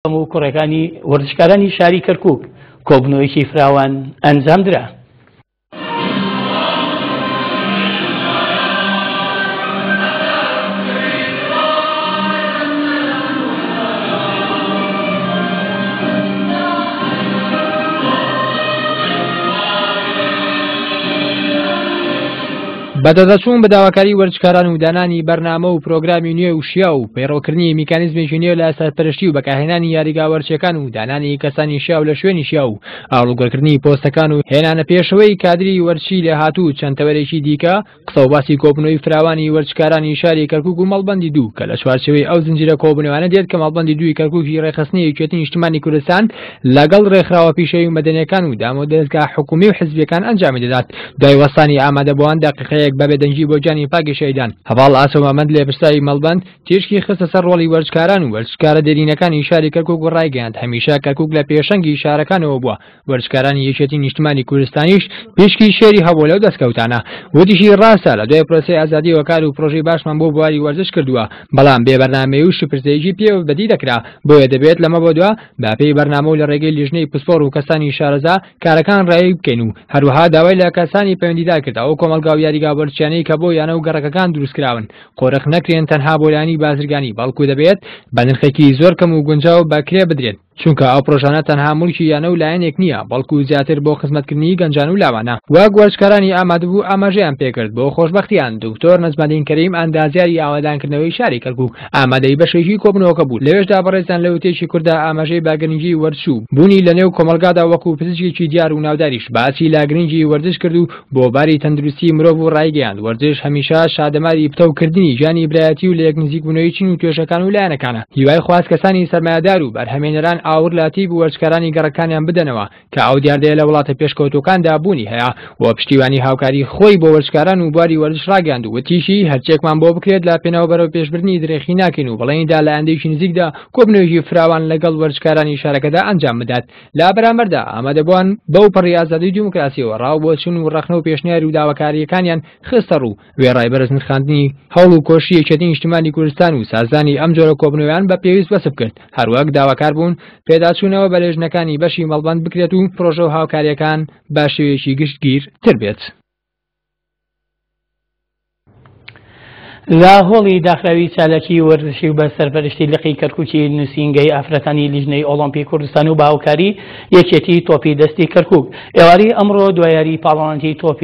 هەموو کوڕەکانی وەرزشکارانی شاری کەرکوک کۆبوونەوەیەکی فراوان ئەنجامدرا. بەدەدەچوون بە داواکاری وەرزشکاران و دانانی بەرنامە و پرۆگرامی نوێ و شیاو و پەیڕەوکردنی میکانیزمێکی نوێ لە سەرپەرشتی و بەکارهێنانی یاریگا وەرزشیەکان و دانانی کەسانی شیاو لە شوێنی شیاو و ئاڵوگۆڕکردنی پۆستەکان و هێنانە پێشەوەی کادری وەرزشی لێهاتوو و چەند تەوەرێکی دیکە قسە و باسی کۆبوونەوەی فراوانی وەرزشکارانی شاری کەرکوک و مەڵبەندی دوو کە لە چوارچێوەی ئەو زنجیرە کۆبوونەوانە دێت کە مەڵبەندی دووی کەرکوکی ڕێکخستنی یەکێتی نیشتمانی کوردستان لەگەڵ ڕێکخراوە پیشەیی و مەدەنیەکان و دامودەزگا حکومی و حزبیەکان ئەنجامی دەدات. دوای وەستانی ئامادەبووان دەقیقەیەک بە بێدەنگی بۆ گیانی پاکی شەهیدان، هەڤاڵ ئاسۆ مامەند لێپرسراوی مەڵبەند تیشکی خستە سەر ڕۆڵی وەرزشکاران و وەرزشکارە دێرینەکانی شاری کەرکوک و ڕایگەیاند هەمیشە کەرکوک لە پێشەنگی شارەکانەوە بووە، وەرزشکارانی یەکێتی نیشتمانی کوردستانیش پشکی شێری هەبووە لەو دەستکەوتانە. وتیشی ڕاستە لە دوای پرۆسەی ئازادیەوە کار و پرۆژەی باشمان بۆ بواری وەرزش کردووە، بەڵام بێ بەرنامەیی و شپرزەیی پێوە بەدی دەکرا، بۆیە دەبێت لەمە بەدوا بە پێی بەرنامە و لە ڕێگەی لیژنەی پسپۆڕ و کەسانی شارەزا کارەکان ڕایی بکەین و هەروەها داوای لە کەسانی پەیوەندیدار کرد ئەو کۆمەڵگا و یاریگا وەرزشیانەی کە بۆ یانە و گەڕەکەکان دروستکراون قۆرخ نەکرێن تەنها بۆ لایەنی بازرگانی بەڵکو دەبێت بە نرخێکی زۆر کەم و گونجاو بە کرێ بدرێن چونکە ئەو پرۆژانە تەنها موڵکی یانە و لایەنێک نییە بەڵکو زیاتر بۆ خزمەتکردنی گەنجان و لاوانە. وەک وەرزشکارانی ئامادەبوو ئاماژەیان پێکرد بۆ خۆشبەختیان دکتۆر نەجمەدین کەریم ئەندازیاری ئاوەدانکردنەوەی شاری کەرکوک ئامادەی بەشێکی کۆبوونەوەکە بوو، لەوێشدا بەڕێزیان لە وتەیەکی کورتدا ئاماژەی بە گرنگی وەرزش و بوونی لە نێو کۆمەڵگادا وەکو پزیشکێکی دیار و ناوداریش باسی لە گرنگی وەرزش کرد و بۆ باری تەندروستی مرۆڤ و ڕایگەیاند وەرزش هەمیشە شادەماری پتەوکردنی گیانی برایەتی و لەیەکنزیکبوونەوەی چین و توێژەکان و لایەنەکانە هیوای خواست کەسانی سەرمایەدار و بەرهەمێنەران ئاوڕ لە تیپ و وەرزشکارانی گەڕەکانیان بدەنەوە کە ئەو دیاردەیە لە وڵاتە پێشکەوتووەکاندا بوونی هەیە و پشتیوانی هاوکاری خۆی بۆ وەرزشکاران و بواری وەرزش ڕاگەیاند و وتیشی هەرچێکمان بۆ بکرێت لە پێناو بەرەو پێشبردنی درێخی ناکەین و بەڵێنی دا لە ئایندەیەکی نزیکدا کۆبوونەوەیەکی فراوان لەگەڵ وەرزشکارانی شارەکەدا ئەنجام بدات. لە بەرامبەردا ئامادەبووان بەو پەڕی ئازادی و دیموکراسیەوە ڕا و بۆچوون و ڕەخنە و پێشنیار و داواکارییەکانیان خستە ڕوو، وێڕای بەرز نرخاندنی هەوڵ و کۆششی یەکێتی نیشتیمانی کوردستان و سازدانی ئەم جۆرە کۆبوونەوەیان بە پێویست وەسف کرد، هەروەک داواکار بوون پێداچوونەوە بە لێژنەکانی بەشی مەڵبەند بکرێت و پرۆژە و هاوکارییەکان بە شێوەیەکی گشتگیر تر بێت. لە هۆڵی داخراوی چالاکی وەرزشی و بە سەرپەرشتی لقی کەرکوکی نووسینگەی ئافرەتانی لیژنەی ئۆڵۆمپی کوردستان و بە هاوکاری یەکێتی تۆپی دەستی کەرکوک ئێوارەی ئەمڕۆ دوایاری پاڵەوانێتی تۆپی.